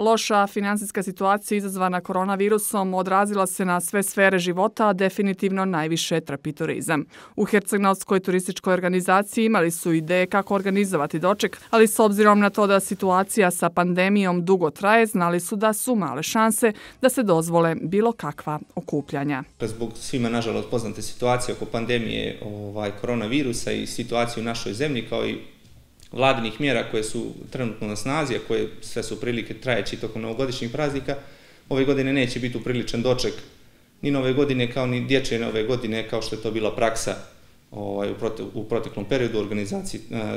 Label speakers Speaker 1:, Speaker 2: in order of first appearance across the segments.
Speaker 1: Loša finansijska situacija izazvana koronavirusom odrazila se na sve sfere života, a definitivno najviše trpi turizam. U Herceg-Novskoj turističkoj organizaciji imali su ideje kako organizovati doček, ali s obzirom na to da situacija sa pandemijom dugo traje, znali su da su male šanse da se dozvole bilo kakva okupljanja.
Speaker 2: Zbog svima, nažalost, poznate situacije oko pandemije koronavirusa i situacije u našoj zemlji, kao i vladinih mjera koje su trenutno na snazi, a koje sve su prilike trajeći tokom novogodišnjih praznika, ove godine neće biti upriličan doček ni nove godine kao ni dječje nove godine, kao što je to bila praksa u proteklom periodu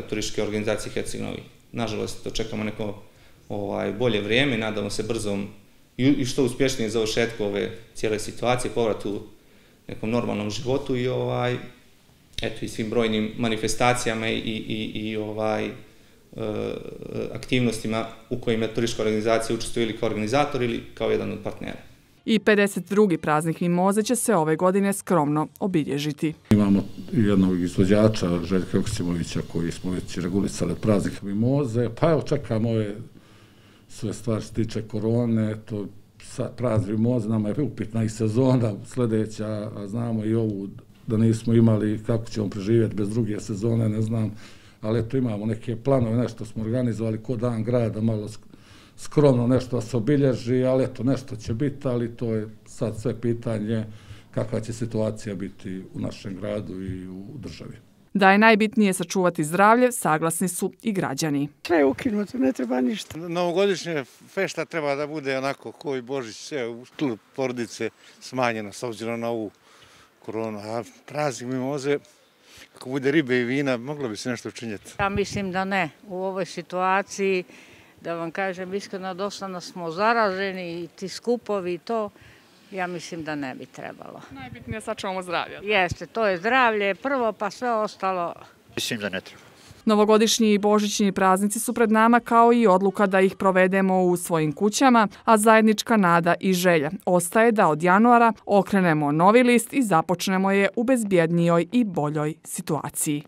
Speaker 2: turističke organizacije Herceg-Novi. Nažalost, očekamo neko bolje vrijeme, nadamo se brzom i što uspješnije završetku ove cijele situacije, povratu nekom normalnom životu i svim brojnim manifestacijama i aktivnostima u kojima turistička organizacija učestvuje ili kao organizator ili kao jedan od partnera.
Speaker 1: I 52. praznik Mimoze će se ove godine skromno obilježiti.
Speaker 3: Imamo jednog izvođača, Željka Joksimovića, koji smo već regulisali praznik Mimoze. Pa evo, čekamo ove sve stvari što se tiče korone, to praznik Mimoze, nama je upitna i sezona sljedeća, a znamo i ovu da nismo imali kako ćemo preživjeti bez druge sezone, ne znam, ali eto imamo neke planove, nešto smo organizovali ko dan grada, malo skromno nešto se obilježi, ali eto nešto će biti, ali to je sad sve pitanje kakva će situacija biti u našem gradu i u državi.
Speaker 1: Da je najbitnije sačuvati zdravlje, saglasni su i građani.
Speaker 4: Sve je ukinuto, ne treba ništa.
Speaker 5: Novogodišnje fešta treba da bude onako ko i Božić, sve u stilu porodice smanjeno s obzirom na ovu koronu. A praznik Mimoze, ako bude ribe i vina, moglo bi se nešto učinjeti.
Speaker 6: Ja mislim da ne. U ovoj situaciji, da vam kažem iskreno, dosta smo zaraženi i ti skupovi i to, ja mislim da ne bi trebalo.
Speaker 1: Najbitnije je sačuvamo zdravlje.
Speaker 6: Jeste, to je zdravlje prvo, pa sve ostalo.
Speaker 7: Mislim da ne treba.
Speaker 1: Novogodišnji i božićni praznici su pred nama, kao i odluka da ih provedemo u svojim kućama, a zajednička nada i želja ostaje da od januara okrenemo novi list i započnemo je u bezbjednijoj i boljoj situaciji.